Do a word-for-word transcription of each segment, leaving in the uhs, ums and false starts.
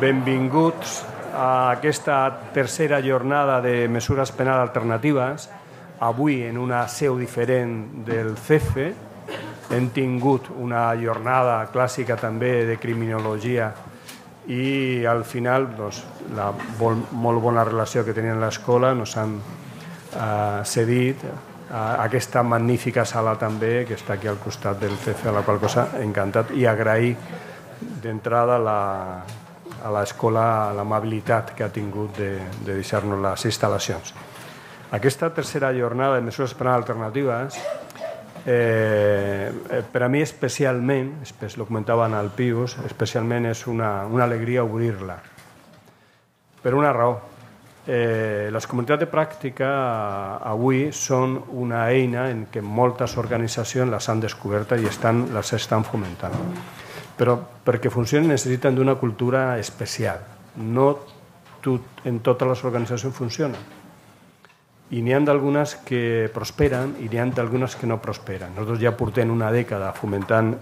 benvinguts a aquesta tercera jornada de mesures penals alternatives. Avui, en una seu diferent del C E F E, hem tingut una jornada clàssica també de criminologia i al final doncs, la molt bona relació que tenien a l'escola ens han eh, cedit a aquesta magnífica sala també que està aquí al costat del C E F E, a la qual cosa encantat i agrair d'entrada la, a l'escola l'amabilitat que ha tingut de, de deixar-nos les instal·lacions. Aquesta tercera jornada de mesures penals alternatives eh, per a mi especialment, lo comentaven al Pius, especialment és una, una alegria obrir-la. Per una raó. Eh, les comunitats de pràctica avui són una eina en què moltes organitzacions les han descobert i estan, les estan fomentant. Però perquè funcionin necessiten d'una cultura especial. No tot, en totes les organitzacions funcionen. I n'hi ha d'algunes que prosperen i n'hi ha d'algunes que no prosperen. Nosaltres ja portem una dècada fomentant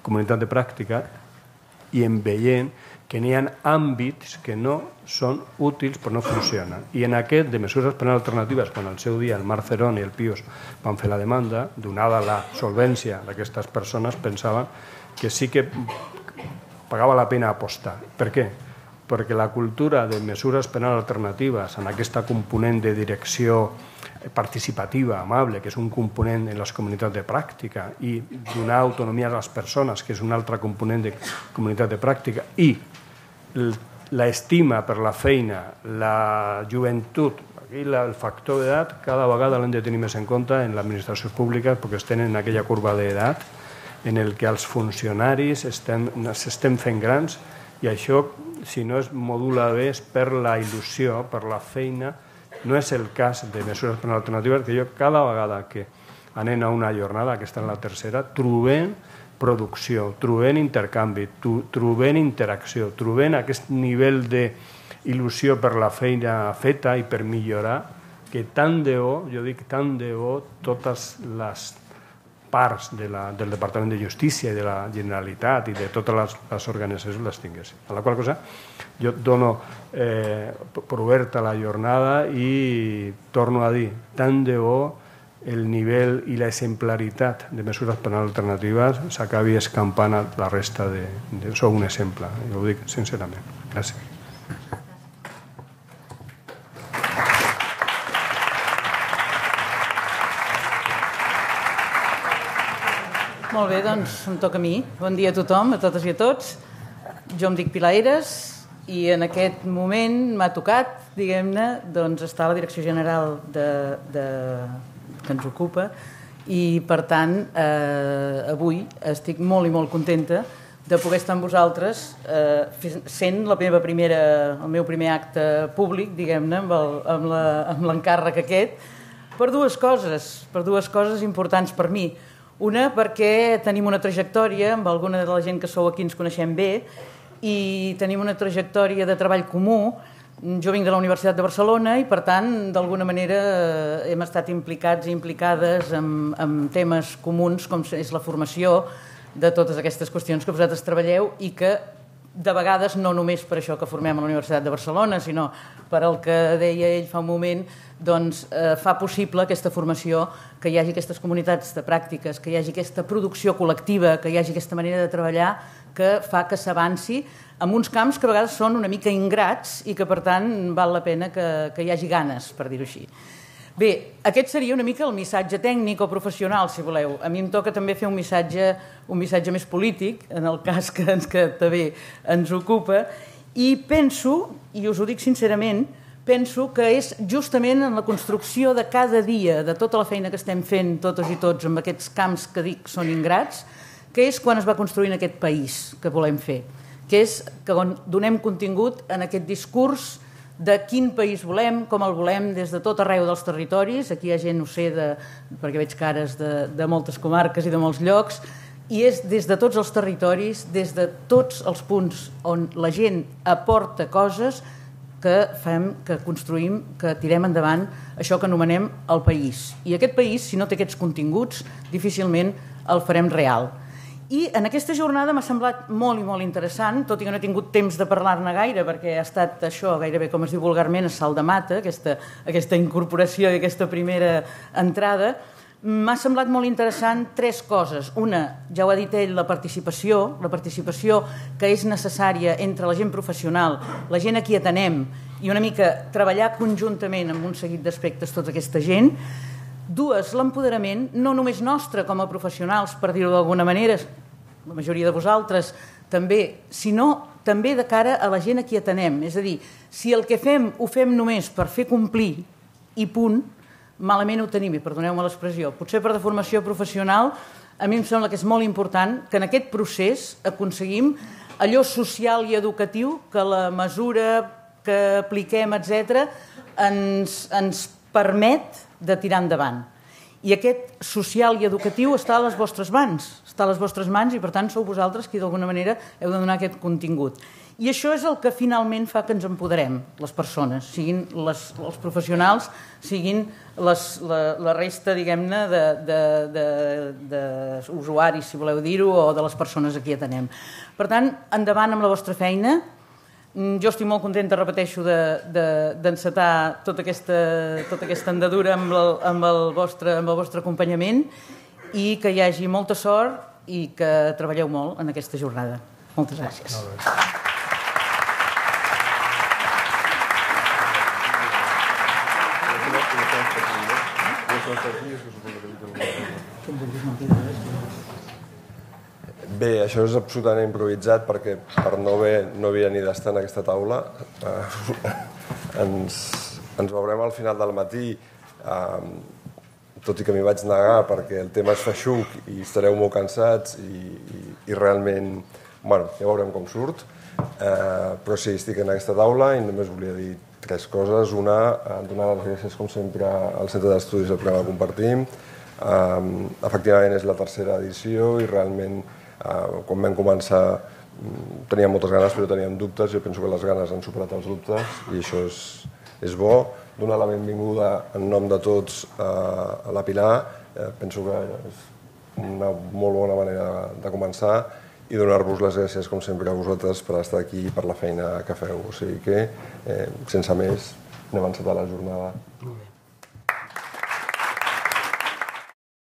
comunitat de pràctica i en veient que n'hi ha àmbits que no són útils però no funcionen. I en aquest de mesures penals alternatives, quan al seu dia el Marc Cerón i el Pius van fer la demanda, donada la solvència d'aquestes persones, pensaven que sí que pagava la pena apostar. Per què? Perquè la cultura de mesures penals alternatives en aquesta component de direcció participativa, amable, que és un component en les comunitats de pràctica, i donar autonomia a les persones, que és un altre component de comunitat de pràctica, i l'estima per la feina, la joventut, i el factor d'edat, cada vegada l'hem de tenir més en compte en l'administració pública perquè estem en aquella curva d'edat en el que els funcionaris s'estem fent grans i això, si no es modula bé, es perd la il·lusió per la feina. No és el cas de mesures penals alternatives, que jo cada vegada que anem a una jornada, aquesta és la tercera, trobem producció, trobem intercanvi, trobem interacció, trobem aquest nivell d'il·lusió per la feina feta i per millorar, que tant de bo, jo dic tant de bo, totes les parts de la, del Departament de Justícia i de la Generalitat i de totes les, les organitzacions les tinguessin. A la qual cosa jo dono eh, per oberta la jornada i torno a dir, tant de bo el nivell i l'exemplaritat de mesures penals alternatives s'acabi escampant a la resta de... de sou un exemple, jo ho dic sincerament. Gràcies. Molt bé, doncs em toca a mi. Bon dia a tothom, a totes i a tots. Jo em dic Pilar Eres i en aquest moment m'ha tocat, diguem-ne, doncs estar a la Direcció General de, de, que ens ocupa i, per tant, eh, avui estic molt i molt contenta de poder estar amb vosaltres eh, sent la meva primera, el meu primer acte públic, diguem-ne, amb l'encàrrec aquest, per dues coses, per dues coses importants per mi. Una, perquè tenim una trajectòria, amb alguna de la gent que sou aquí ens coneixem bé, i tenim una trajectòria de treball comú. Jo vinc de la Universitat de Barcelona i, per tant, d'alguna manera hem estat implicats i implicades en, en temes comuns, com és la formació de totes aquestes qüestions que vosaltres treballeu i que, de vegades, no només per això que formem a la Universitat de Barcelona, sinó per el que deia ell fa un moment, doncs eh, fa possible aquesta formació, que hi hagi aquestes comunitats de pràctiques, que hi hagi aquesta producció col·lectiva, que hi hagi aquesta manera de treballar que fa que s'avanci en uns camps que a vegades són una mica ingrats i que, per tant, val la pena que, que hi hagi ganes, per dir-ho així. Bé, aquest seria una mica el missatge tècnic o professional, si voleu. A mi em toca també fer un missatge, un missatge més polític, en el cas que, ens, que també ens ocupa, i penso, i us ho dic sincerament, penso que és justament en la construcció de cada dia, de tota la feina que estem fent totes i tots amb aquests camps que dic són ingrats, que és quan es va construint aquest país que volem fer, que és que donem contingut en aquest discurs de quin país volem, com el volem, des de tot arreu dels territoris. Aquí hi ha gent, ho sé, de, perquè veig cares de, de moltes comarques i de molts llocs, i és des de tots els territoris, des de tots els punts on la gent aporta coses que fem, que construïm, que tirem endavant això que anomenem el país. I aquest país, si no té aquests continguts, difícilment el farem real. I en aquesta jornada m'ha semblat molt i molt interessant, tot i que no he tingut temps de parlar-ne gaire, perquè ha estat això, gairebé com es diu vulgarment, a salt de mata, aquesta, aquesta incorporació i aquesta primera entrada. M'ha semblat molt interessant tres coses. Una, ja ho ha dit ell, la participació, la participació que és necessària entre la gent professional, la gent a qui atenem, i una mica treballar conjuntament amb un seguit d'aspectes tota aquesta gent. Dues, l'empoderament, no només nostre com a professionals, per dir-ho d'alguna manera, la majoria de vosaltres també, sinó també de cara a la gent a qui atenem. És a dir, si el que fem ho fem només per fer complir i punt, malament ho tenim, i perdoneu-me l'expressió. Potser per deformació professional, a mi em sembla que és molt important que en aquest procés aconseguim allò social i educatiu que la mesura que apliquem, etcètera, ens, ens permet de tirar endavant. I aquest social i educatiu està a les vostres mans, està a les vostres mans i per tant sou vosaltres qui d'alguna manera heu de donar aquest contingut. I això és el que finalment fa que ens empoderem, les persones, siguin les, els professionals, siguin les, la, la resta, diguem-ne, d'usuaris, si voleu dir-ho, o de les persones a qui atenem. Per tant, endavant amb la vostra feina. Jo estic molt contenta, repeteixo, d'encetar de, de, tota, aquesta, tota aquesta andadura amb el, amb, el vostre, amb el vostre acompanyament i que hi hagi molta sort i que treballeu molt en aquesta jornada. Moltes gràcies. Bé, això és absolutament improvisat perquè per no haver, no havia ni d'estar en aquesta taula eh, ens, ens veurem al final del matí, eh, tot i que m'hi vaig negar perquè el tema és feixuc i estareu molt cansats i, i, i realment, bueno, ja veurem com surt, eh, però sí, estic en aquesta taula i només volia dir tres coses. Una, eh, donar les gràcies com sempre al Centre d'Estudis del programa Compartim. Eh, efectivament és la tercera edició i realment Uh, quan vam començar teníem moltes ganes però teníem dubtes. Jo penso que les ganes han superat els dubtes i això és, és bo. Donar la benvinguda en nom de tots uh, a la Pilar, uh, penso que és una molt bona manera de, de començar i donar-vos les gràcies com sempre a vosaltres per estar aquí i per la feina que feu. O sigui que, eh, sense més, anem a encetar la jornada.